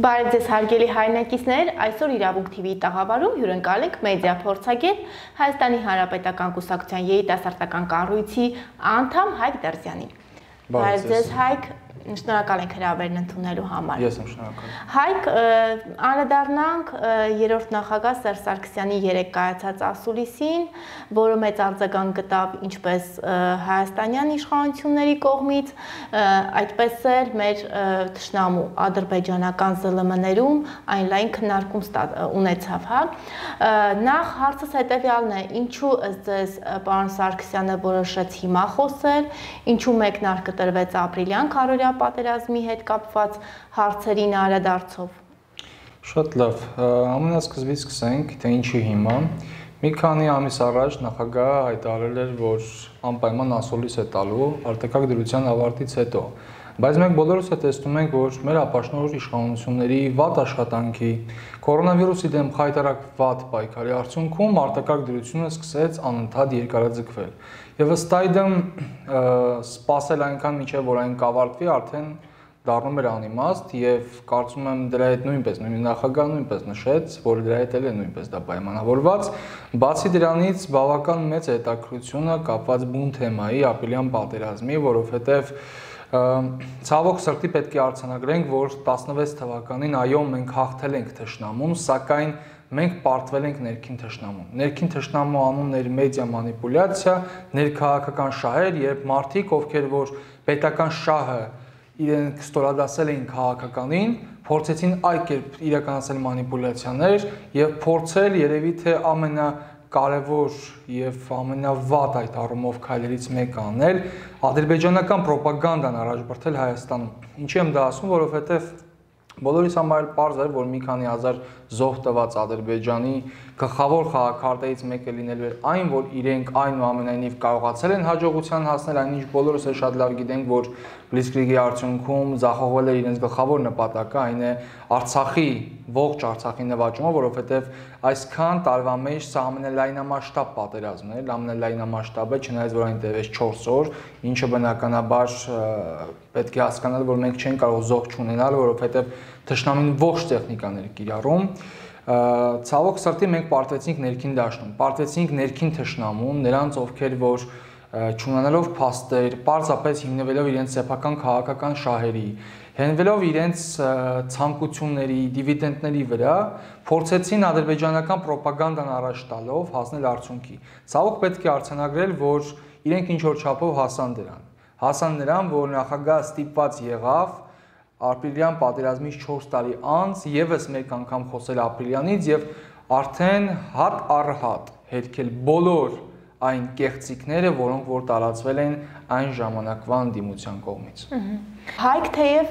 Բարև ձեզ հարգելի հայրենակիցներ, այսօր Իրավունք TV-ի տաղավարում հյուրընկալ ենք մեդիա փորձագետ Հայաստանի Հանրապետական Կուսակցության երիտասարդական կառույցի անդամ Հայկ Դերզյանին։ Բարև ձեզ Հայկ, շնորհակալ ենք հրավերն ընդունելու համար։ Ես եմ շնորհակալ։ Հայկ, անդրադառնանք երրորդ նախագահ Սերժ Սարգսյանի երեկ կայացած ասուլիսին, որը մեծ արձագանք գտավ ինչպես հայաստանյան իշխանությունների կողմից, այդպես էլ մեր թշնամու ադրբեջանական ԶԼՄ-ներում այն լայն քննարկում ունեցավ, հա։ Նախ հարցս հետևյալն է, ինչու ըստ ձեզ պարոն Սարգսյանը որոշեց հիմա խոսել, ինչու մեկնարկը տրվեց ապրիլյան քարոզիա պատերազմի հետ կապված հարցերին անդրադարձով։ Շատ լավ, ամենասկզբից սկսենք, թե ինչի հիմա։ Մի քանի ամիս առաջ նախագահը հայտարարել էր, որ անպայման ասուլիս է տալու արտակարգ դրության ավարտից հետո։ Բայց մենք բոլորս է տեսնում ենք, որ մեր ապաշնորհ իշխանությունների վատ աշխատանքի, կորոնավիրուսի դեմ խայտարակ վատ պայքարի արդյունքում արտակարգ դրությունը սկսեց անընդհատ երկարաձգվել։ Եվ ըստ այդմ սպասել այնքան մինչև որ այն կավարտվի արդեն դառնում էր անիմաստ եւ կարծում եմ դրա հետ նույնպես նախագահը նույնպես նշեց, որ դրա հետ էլ է նույնպես դա պայմանավորված, բացի դրանից բավական մեծ հետաքրքրությունը կապված բուն թեմայի ապրիլյան պատերազմի, որովհետեւ ցավոք սրտի պետք է արձանագրենք, որ 16 թվականին այո մենք հաղթել ենք թշնամուն, սակայն մենք պարտվել ենք ներքին թշնամուն։ Ներքին թշնամու անունն էր մեդիա մանիպուլյացիա, ներքաղաքական շահեր, երբ մարդիկ, ովքեր որ պետական շահը իրենք ստորադասել էին քաղաքականին, փորձեցին այդ կերպ իրականացնել մանիպուլյացիաներ եւ փորձել երևի թե ամենակարևոր եւ ամենավատ այդ առումով քայլերից մեկը անել ադրբեջանական ռոպագանդան առաջբրդել Հայաստանում։ Ինչի եմ դա ասում, որովհետեւ բոլորիս համար պարզ էր, որ մի քանի հազար զոհ տված Ադրբեջանի գլխավոր խաղաքարտերից մեկը լինելու էր այն, որ իրենք այնուամենայնիվ կարողացել են հաջողության հասնել, այնինչ բոլորս էլ շատ լավ գիտենք, որ Բլիցկրիգի արդյունքում ձախողվել է իրենց գլխավոր նպատակը, այն է Արցախի ողջ Արցախի նվաճումը, որովհետև այսքան տարվա մեջ սա ամենալայնամասշտաբ պատերազմն էր, ամենալայնամասշտաբը, չնայած որ այն տևեց 4 օր, ինչը բնականաբար պետք է հասկանալ, որ մենք չենք կարող զոհ չունենալ, որովհետև թշնամին ողջ տեխնիկան էր կիրառում։ Ցավոք սրտի մենք պարտվեցինք ներքին դաշտում, պարտվեցինք ներքին թշնամուն, նրանց ովքեր որ չունենալով փաստեր, պարզապես հիմնվելով իրենց սեփական քաղաքական շահերի, հենվելով իրենց ցանկությունների, դիվիդենդների վրա, փորձեցին ադրբեջանական ռոպագանդան առաջ տալով հասնել արդյունքի։ Ցավոք պետք է արձանագրել, որ իրենք ինչ որ չափով հասան նրան, որ նախագահը ստիպված եղավ ապրիլյան պատերազմից 4 տարի անց եւս մեկ անգամ խոսել ապրիլյանից եւ արդեն հատ առ հատ հերքել բոլոր այն կեղծիքները, որոնք որ տարածվել են այն ժամանակվա անդիմության կողմից։ Հայկ թեև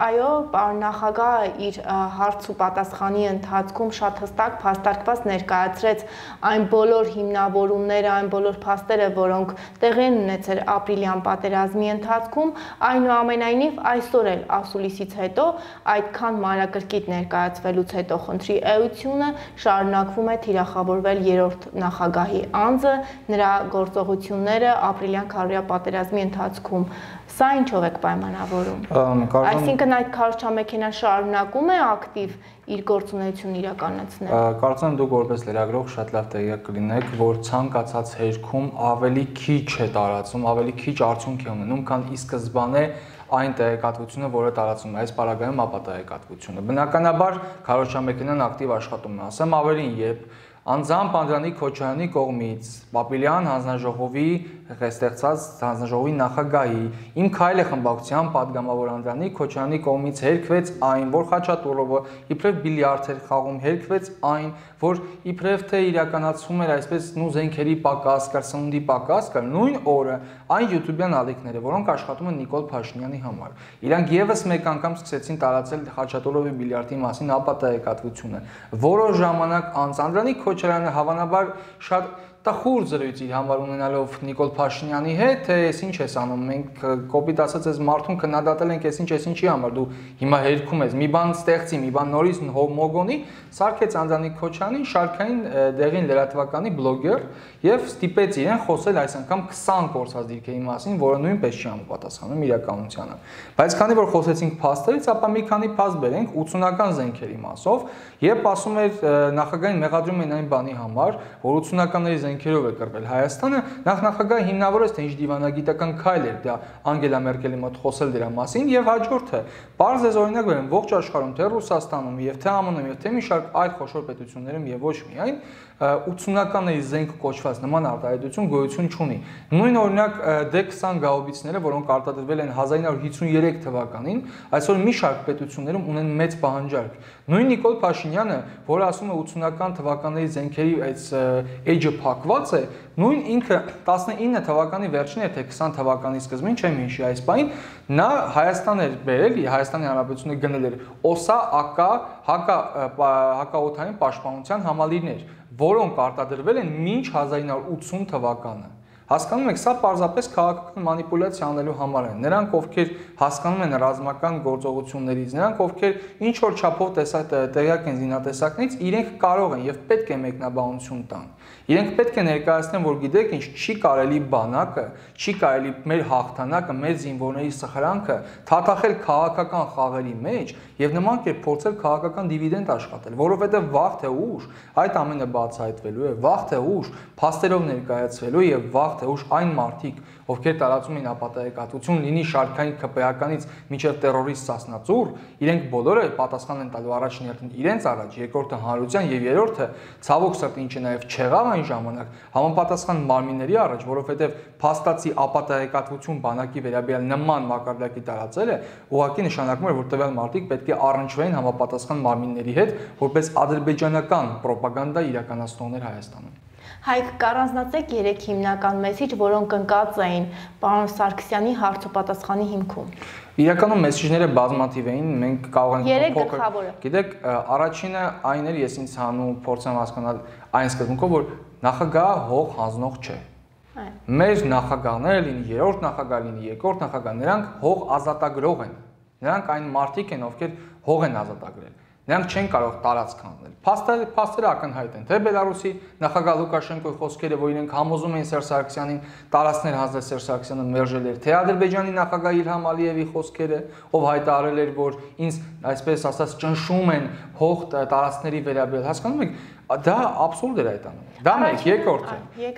այո, պարոն նախագահը իր հարց ու պատասխանի ընթացքում շատ հստակ փաստարկված ներկայացրեց այն բոլոր հիմնավորումները, այն բոլոր փաստերը, որոնք տեղի են ունեցել ապրիլյան պատերազմի ընթացքում, այնուամենայնիվ այսօր էլ ասուլիսից հետո այդքան մանրակրկիտ ներկայացվելուց հետո խնդրի էությունը շարունակվում է թիրախավորվել երրորդ նախագահի անձը, նրա գործողությունները ապրիլյան քարոզիա պատերազմի ընթացքում։ Սա ինչով եք պայմանավորում։ Այսինքն այդ քարոզչամեքենան շարունակում է ակտիվ իր գործունեությունն իրականացնել։ Կարծում եմ դուք որպես լրագրող շատ լավ տեղյակ կլինեք, որ ցանկացած հերքում ավելի քիչ է տարածում, ավելի քիչ արդյունք է ունենում, քան ի սկզբանե այն տեղեկատվությունը, որը տարածում է այս պարագայում ապա տեղեկատվությունը։ Բնականաբար քարոզչամեքենան ակտիվ աշխատում է, ասեմ ավելին, երբ անձամբ Անդրանիկ Քոչարյանի կողմից Պապիլյան հանձնաժողովի ստեղծած հանձնաժողովի նախագահի Իմ քայլը խմբակցության падգամավոր Անդրանիկ Քոչարյանի կողմից հերքվեց այն, որ Խաչատուրովը իբրև բիլիարդ էր խաղում, հերքվեց այն, որ իբրև թե իրականացում էր այսպես զենքերի պակաս կար, սնունդի պակաս կար, նույն օրը այն YouTube-յան ալիքները, որոնք աշխատում են Նիկոլ Փաշինյանի համար, իրանք եւս մեկ անգամ սկսեցին տարածել Խաչատուրովի բիլիարդի մասին ապա տեղեկատվությունը, որոշ ժամանակ անց Անդրանիկ Քոչարյանը հավանաբար շատ տխուր զրույց իր համար ունենալով Նիկոլ Փաշինյանի հետ, թե ես ինչ ես անում, մենք կոպիտ ասած այս մարդուն քննադատել ենք, ես ինչի համար, դու հիմա հերքում ես, մի բան ստեղծի, մի բան նորից մոգոնի, սարքեց Անդրանիկ Քոչյանին, շարքային դեղին լրատվականի բլոգեր եւ ստիպեց իրեն խոսել այս անգամ 20 կորցած դիրքերի մասին, որը նույնպես չի համապատասխանում իրականությանը։ Բայց քանի որ խոսեցինք փաստերից, ապա մի քանի փաստ բերենք 80-ական զենքերի մասով, եւ ասում էր նախագահային մեղադրում են այն բանի համար, որ 80-ականների զենքերով է կռվել Հայաստանը, նախագահը հիմնավորեց թե ինչ դիվանագիտական քայլ էր դա Անգելա Մերկելի մոտ խոսել դրա մասին եւ հաջորդը բարձ ես օրինակ վերեմ ողջ աշխարհում թե Ռուսաստանում եւ թե ԱՄՆ-ում եւ թե մի շարք այլ խոշոր պետություններում եւ ոչ միայն 80-ականների զենք կոչված նման արտահայտություն գոյություն չունի։ Նույն օրինակ D20 գաուբիցները, որոնք արտադրվել են 1953 թվականին, այսօր մի շարք պետություններում ունեն մեծ պահանջարկ։ Նույն Նիկոլ Փաշինյանը, որը ասում է 80-ական թվականների զենքերի այս էջը փակված է, նույն ինքը 19 թվականի վերջին թե 20 թվականի սկզբին, չեմ հիշի այս բանին, նա Հայաստան էր բերել, Հայաստանի Հանրապետությունը գնել էր ՕՍԱ, ԱԿ, հակաօդային պաշտպանության համալիրներ, որոնք արտադրվել են մինչ 1980 թվականը։ Հասկանում եք, սա պարզապես քաղաքական մանիպուլյացիա անելու համար է։ Նրանք, ովքեր հասկանում են ռազմական գործողություններից, նրանք, ովքեր ինչ որ չափով տեղյակ են զինատեսակներից, իրենք կարող են եւ պետք է մեկնաբանություն տան։ Իրենք պետք է ներկայացնեն, որ գիտեք ինչ, չի կարելի բանակը, չի կարելի մեր հաղթանակը, մեր զինվորների սխրանքը թաթախել քաղաքական խաղերի մեջ եւ նման կերպ փորձել քաղաքական դիվիդենդ աշխատել, որովհետեւ վաղ թե ուշ այդ ամենը բացահայտվելու է, վաղ թե ուշ փաստերով ներկայացվելու եւ վաղ թե ուշ այն մարդիկ, ովքեր տարածում են ապատեգատություն, լինի շարքային ԿՊՀ-ականից մինչև տերորիստ Սասնածուր, իրենք բոլորը պատասխան են տալու առաջին հերթին իրենց առաջ, երկրորդը հանրության եւ երրորդը ցավոք սրտի ինչը նաեւ չեղավ այն ժամանակ համապատասխան մարմինների առաջ, որովհետեւ փաստացի ապատեգատություն բանակի վերաբերյալ նման մակարդակի տարածելը ուղղակի նշանակում է, որ տվյալ մարդիկ պետք է առնչվեն համապատասխան մարմինների հետ, որպես ադրբեջանական պրոպագանդա իրականացնողներ Հայաստանում։ Հայկ, կառանձնացեք 3 հիմնական մեսիջ, որոնք ընկած էին պարոն Սարգսյանի հարց ու պատասխանի հիմքում։ Իրականում մեսիջները բազմաթիվ էին, մենք կարող ենք փոքր։ Գիտեք, առաջինը այն էր, ես ինձ հանու փորձեմ հասկանալ այն սկզբունքով, որ նախագահը հող հանձնող չէ։ Մեր նախագահները, լինի երրորդ նախագահ, լինի երկրորդ նախագահ, նրանք հող ազատագրող են։ Նրանք այն մարդիկ են, ովքեր հող են ազատագրել։ Նրանք չեն կարող տարածք հանել։ Փաստերը ակնհայտ են, թե Բելարուսի նախագահ Լուկաշենկոյի խոսքերը, որ իրենք համոզում էին Սերժ Սարգսյանին տարածքներ հանձնել, Սերժ Սարգսյանը մերժել էր, թե Ադրբեջանի նախագահ Իլհամ Ալիևի խոսքերը, ով հայտարարել էր, որ ինձ այսպես ասած ճնշում են հող տարածքների վերաբերյալ, հասկանում եք, դա աբսուրդ էր այդ անում։ Դա մեկ,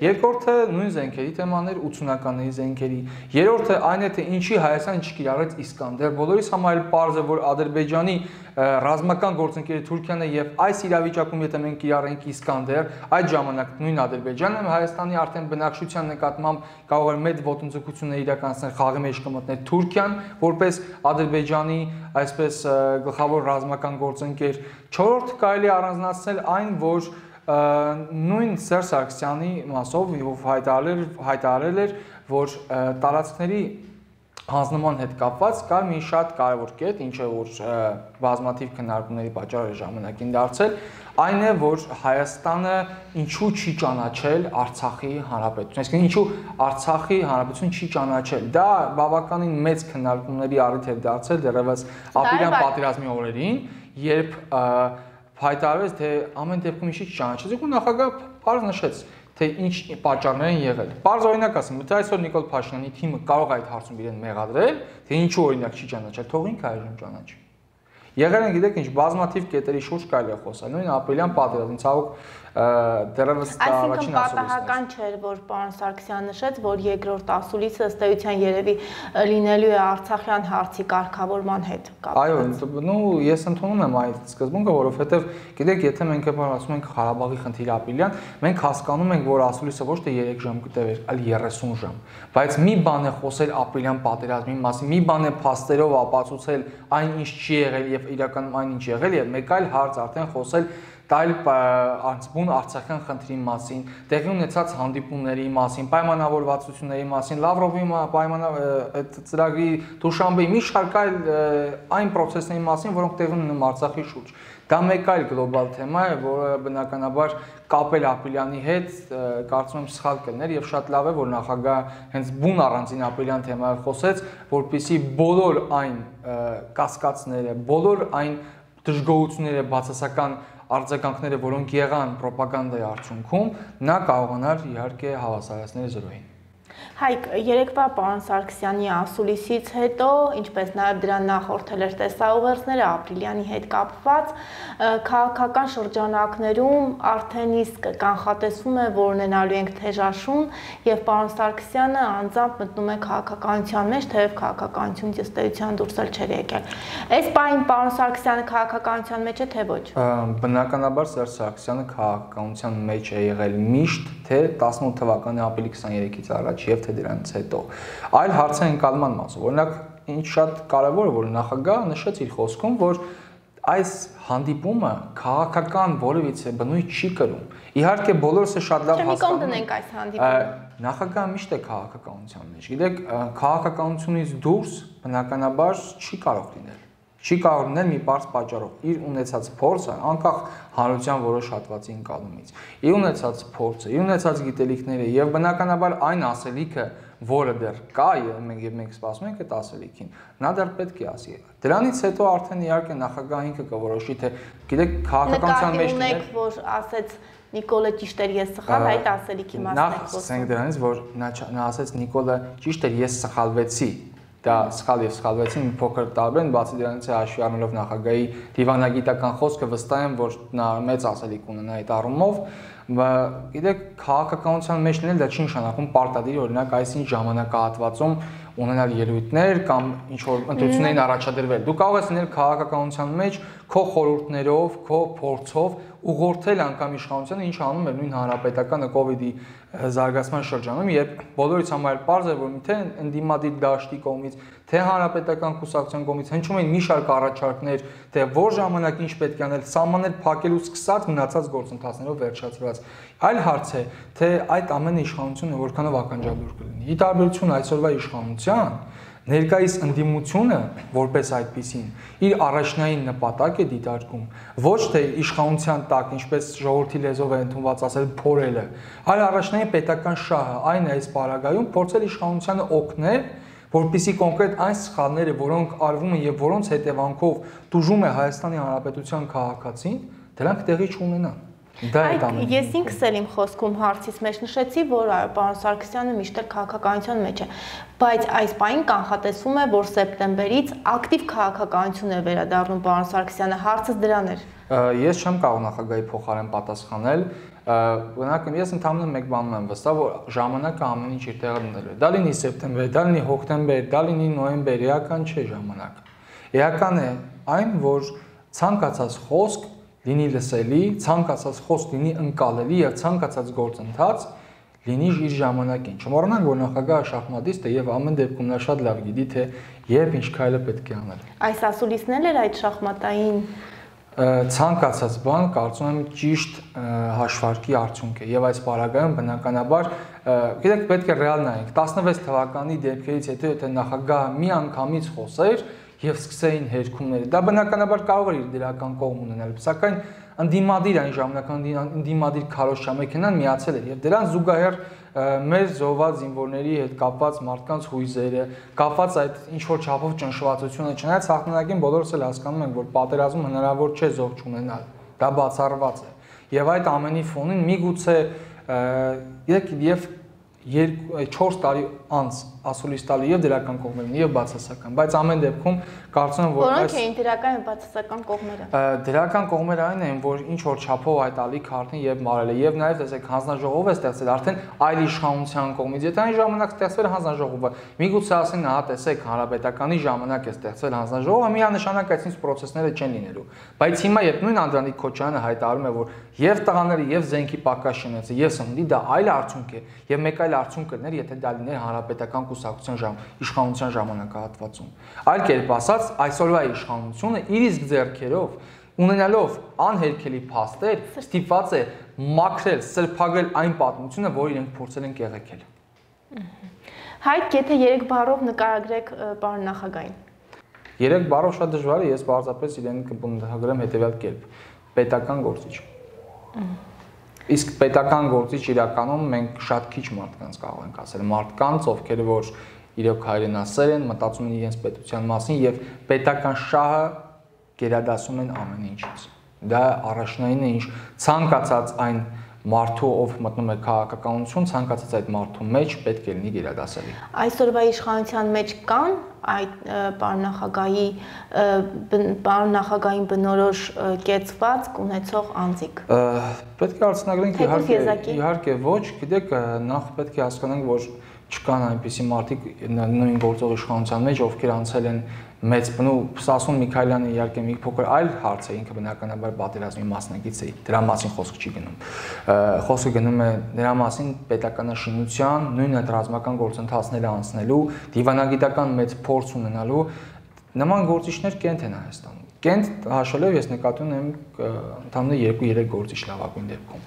երկրորդը նույն զենքերի թեմաներ, 80-ականների զենքերի։ Երրորդը այն է, թե ինչի Հայաստանը չկիրառեց Իսկանդեր։ Բոլորիս համար էլ պարզ է, որ Ադրբեջանի ռազմական գործընկերը Թուրքիան է եւ այս իրավիճակում եթե մենք կիրառենք Իսկանդեր, այդ ժամանակ նույն Ադրբեջանը Հայաստանի արդեն բնակչության նկատմամբ կարող էր մեծ ոտնձգություններ իրականացնել, խաղի մեջ կմտներ Թուրքիան, որպես Ադրբեջանի այսպես գլխավոր ռազմական գործընկեր։ Չորրորդ կարելի առանձնացնել այն, որ նույն Սերժ Սարգսյանի մասով հայտարարել էր, որ տարածքների հանձնման հետ կապված կար մի շատ կարևոր կետ, ինչը որ բազմաթիվ քննարկումների պատճառ է ժամանակին դարձել, այն է, որ Հայաստանը ինչու չի ճանաչել Արցախի հանրապետություն, այսինքն ինչու Արցախի հանրապետություն չի ճանաչել։ Դա բավականին մեծ քննարկումների առիթ էր դարձել դեռևս ապրիլյան պատերազմի օրերին, երբ հայտարարվեց, թե ամեն դեպքում ինչի չճանաչեց, ու նախագահը բարձ նշեց, թե ինչ պատճառներ են եղել։ Բարձ օրինակ ասեմ, եթե այսօր Նիկոլ Փաշինյանի թիմը կարող է այդ հարցում իրեն մեղադրել, թե ինչու օրինակ չի ճանաչել, թող ինքը այժմ ճանաչի։ Եղել են գիտեք ինչ բազմաթիվ կետերի շուրջ կարելի է խոսալ, նույն ապրիլյան պատերազմին, ցավոք դեռևս դա առաջին ասուլիսն է։ Պատահական չէր, որ պարոն Սարգսյանը նշեց, որ երկրորդ ասուլիսը ըստ էության երևի լինելու է Արցախյան հարցի կարգավորման հետ կապված։ Այո, ես ընդունում եմ այդ սկզբունքը, որովհետև գիտեք, եթե մենք ասում ենք Ղարաբաղի խնդիրը ապրիլյան, մենք հասկանում ենք, որ ասուլիսը ոչ թե 3 ժամ կտևեր, այլ 30 ժամ։ Բայց մի բան է խոսել ապրիլյան պատերազմի մասին, մի բան է փաստերով ապացուցել այն ինչ չի եղել եւ իրականում այն ինչ եղել եւ մեկ այլ հարց արդեն խոսել տալ բուն Արցախյան խնդրի մասին, տեղի ունեցած հանդիպումների մասին, պայմանավորվածությունների մասին, Լավրովի ծրագրի Դուշանբեի մի շարք այլ այն process-ների մասին, որոնք տեղի ունենում Արցախի շուրջ։ Դա մեկ այլ գլոբալ թեմա է, որը բնականաբար կապել Ապիլյանի հետ, կարծում եմ սխալ կլներ եւ շատ լավ է, որ նախագահ հենց բուն առանձին Ապիլյան թեմայով խոսեց, որպեսզի բոլոր այն կասկածները, բոլոր այն դժգոհությունները, բացասական արձագանքները, որոնք եղան ռոպագանդայի արդյունքում, նա կարողանար իհարկե հավասարացնել զրոյին։ Հայկ, երեկվա պարոն Սարգսյանի ասուլիսից հետո, ինչպես նաև դրան նախորդել էր տեսաուղերձները Ապրիլյանի հետ կապված, քաղաքական շրջանակներում արդեն իսկ կանխատեսվում է, որ ունենալու ենք թեժաշուն եւ պարոն Սարգսյանը անձամբ մտնում է քաղաքականության մեջ, թեև քաղաքականությունից ըստ էության դուրս էլ չէր եկել։ Այս պահին պարոն Սարգսյանը քաղաքականության մեջ է, թե ոչ։ Բնականաբար Սերժ Սարգսյանը քաղաքականության մեջ է եղել միշտ, թե 18 թվականի ապրիլի 23-ից առաջ եւ թե դրանից հետո։ Այլ հարց է ընկալման մասով։ Օրինակ, ինչ շատ կարևոր է, որ նախագահը նշեց իր խոսքում, որ այս հանդիպումը քաղաքական որևիցե բնույթ չի կրում։ Իհարկե բոլորս է շատ լավ հասկանում ենք այս հանդիպումը։ Նախագահը միշտ է քաղաքականության մեջ։ Գիտեք, քաղաքականությունից դուրս բնականաբար չի կարող լինել։ Չի կարող լինել մի բարձ պատճառով իր ունեցած փորձը, անկախ հանրության որոշ հատվածի ընկալումից։ Իր ունեցած փորձը, իր ունեցած գիտելիքները եւ բնականաբար այն ասելիքը, որը դեռ կա եւ մենք սպասում ենք այդ ասելիքին, նա դեռ պետք է ասի։ Դրանից հետո արդեն իհարկե նախագահը ինքը կորոշի, թե գիտեք քաղաքականության մեջ ունեք, որ ասեց Նիկոլը ճիշտ էր, ես սխալ, այդ ասելիքի մասն է խոսքը։ Նախ ասենք դրանից, որ նա ասեց Նիկոլը ճիշտ էր, ես սխալվեցի։ Դա սխալ եւ սխալվեցին մի փոքր տարբեր են, բացի դրանից է հաշվի առնելով նախագահի դիվանագիտական խոսքը վստահ եմ, որ նա մեծ ասելիք ունենա այդ առումով, գիտեք, քաղաքականության մեջ լինել դա չի նշանակում պարտադիր օրինակ այսինչ ժամանակահատվածում ունենալ ելույթներ կամ ինչ որ ընտրություններին առաջադրվել։ Դու կարող ես լինել քաղաքականության մեջ քո խորհուրդներով, քո փորձով ուղղորդել անգամ իշխանությանը, ինչ անում էր նույն հանրապետականը կ ូវ իդի զարգացման շրջանում, երբ բոլորից համար պարզ է, որ թե ընդդիմադիր դաշտի կողմից, թե հանրապետական կուսակցության կողմից հնչում են մի շարք առաջարկներ, թե որ ժամանակ ինչ պետք է անել, սահմաններ փակելուց սկսած մնացած գործընթացներով վերջացրած։ Այլ հարց է, թե այդ ամենը իշխանությունը որքանով ականջալուր կլինի։ Ի տարբերություն այսօրվա իշխանության, ներկայիս ընդդիմությունը որպես այդպիսին իր առաջնային նպատակ է դիտարկում ոչ թե իշխանության տակ, ինչպես ժողովրդի լեզվով է ընդունված ասել, փորելը, այլ առաջնային պետական շահը, այն է այս պարագայում փորձել իշխանությանը օգնել, որպեսզի կոնկրետ այն սխալները, որոնք արվում են եւ որոնց հետևանքով տուժում է Հայաստանի Հանրապետության քաղաքացին, դրանք տեղի չունենան։ Ես ինքս էլ իմ խոսքում հարցից մեջ նշեցի, որ պարոն Սարգսյանը միշտ էլ քաղաքականության մեջ է, բայց այս պահին կանխատեսվում է, որ սեպտեմբերից ակտիվ քաղաքականություն է վերադառնում պարոն Սարգսյանը, հարցս դրան էր։ Ես չեմ կարող նախագահի փոխարեն պատասխանել, բնական ես ընդհանրապես մեկ բանում եմ վստահ, որ ժամանակը ամեն ինչ իր տեղը դնելու է։ Դա լինի սեպտեմբեր, դա լինի հոկտեմբեր, դա լինի նոյեմբեր, էական չէ ժամանակը։ Էական է այն, որ ցանկացած խոսք լինի լսելի, ցանկացած խոսք լինի ընկալելի եւ ցանկացած գործընթաց լինի իր ժամանակին։ Չմոռանանք, որ նախագահը շախմատիստ է եւ ամեն դեպքում նա շատ լավ գիտի, թե երբ ինչ քայլը պետք է անել։ Այս ասուլիսն էլ էր այդ շախմատային ցանկացած բան, կարծում եմ ճիշտ հաշվարկի արդյունք է եւ այս պարագայում բնականաբար, գիտեք, պետք է ռեալ նայենք 16 թվականի դեպքերից հետո եթե նախագահը մի անգամից խոսեր եւ սկսեին հերքումները, դա բնականաբար կարող է իր դրական կողմ ունենալ, սակայն ընդդիմադիր այն ժամանակ ընդդիմադիր քարոզչամեքենան միացել էր եւ դրան զուգահեռ մեր զոհված զինվորների հետ կապված մարդկանց հույզերը, կապված այդ ինչ որ չափով ճնշվածությունը, չնայած հաղթանակին բոլորս էլ հասկանում ենք, որ պատերազմում հնարավոր չէ զոհ չունենալ, դա բացառված է։ Եվ այդ ամենի ֆոնին միգուցե եւ 4 տարի անց ասուլիս տալու եւ դրական կողմերին եւ բացասական, բայց ամեն դեպքում կարծում եմ, որ որոնք էին դրական եւ բացասական կողմերը։ Դրական կողմերը այն են, որ ինչ որ չափով այդ ալիք արդեն եւ մարել է եւ նաեւ տեսեք հանձնաժողով է ստեղծել արդեն այլ իշխանության կողմից, եթե այն ժամանակ ստեղծվել հանձնաժողովը, միգուցե ասեն, հա տեսեք, հանրապետականի ժամանակ է ստեղծվել հանձնաժողովը, միանշանակ այսինչ պրոցեսները չեն լինելու։ Բայց հիմա երբ նույն Անդրանիկ Քոչարյանը հայտարարում է, որ եւ տղաները եւ զենքի պակաս շնեցը եւ սննդի, դա այլ արդյունք է եւ մեկ այլ արդյունք կներ, եթե դա լիներ հանրապետական կուսակցության իշխանության ժամանակահատվածում։ Այլ կերպ ասած, այսօրվա իշխանությունը իր իսկ ձեռքերով ունենալով անհերքելի փաստեր ստիպված է մաքրել, սրբագրել այն պատմությունը, որ իրենք փորձել են կեղեքել։ Հայկ, եթե 3 բառով նկարագրեք պարոն նախագահին։ Երեք բառով շատ դժվար է, ես պարզապես իրեն կբնութագրեմ հետևյալ կերպ. պետական գործիչ։ Իսկ պետական գործիչ իրականում մենք շատ քիչ մարդկանց կարող ենք ասել, մարդկանց, ովքեր որ իրոք հայրենասեր են, մտածում են իրենց պետության մասին եւ պետական շահը գերադասում են ամեն ինչից։ Դա առաջնայինն է, ինչ ցանկացած այն մարդու, ով մտնում է քաղաքականություն, ցանկացած այդ մարդու մեջ պետք է լինի գերադասելի։ Այսօրվա իշխանության մեջ կան այդ պարոն նախագահային բնորոշ կեցված ունեցող անձիկ։ Պետք է արձանագրենք իհարկե ոչ, գիտեք, նախ պետք է հասկանանք, որ չկան այնպիսի մարդիկ նույն գործող իշխանության մեջ, ովքեր անցել են մեծ բնու Սասուն Միքայելյանը իհարկե մի փոքր այլ հարց է, ինքը բնականաբար պատերազմի մասնակից է, դրա մասին խոսք չի գնում։ Խոսքը գնում է դրա մասին պետականաշինության, նույն այդ ռազմական գործընթացները անցնելու, դիվանագիտական մեծ փորձ ունենալու նման գործիչներ կենտ են Հայաստանում։ Կենտ հաշվելով ես նկատի ունեմ ընդհանրապես 2-3 գործիչ լավագույն դեպքում։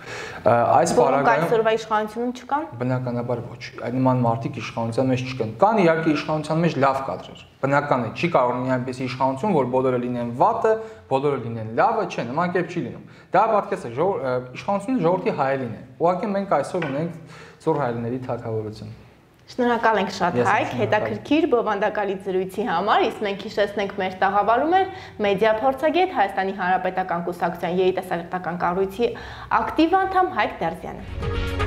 Այս պարագայում այսօրվա իշխանությունում չկան։ Բնականաբար ոչ։ Այդ նման մարդիկ իշխանության մեջ չկան։ Կան իհարկե իշխանության մեջ լավ կադրեր։ Բնական է, չի կարող լինի այնպեսի իշխանություն, որ բոլորը լինեն վատը, բոլորը լինեն լավը, չէ, նման կերպ չի լինում։ Դա պատկես է, իշխանությունը ժողովրդի հայելին է։ Ուղղակի մենք այսօր ունենք ծուռ հայելիների թագավորություն։ Շնորհակալ ենք շատ Հայկ, հետաքրքիր բովանդակալի զրույցի համար, իսկ մենք հիշեցնենք մեր տաղավարում էր մեդիա փորձագետ Հայաստանի Հանրապետական կուսակցության երիտասարդական կառույցի ակտիվ անդամ Հայկ Դարզյանը։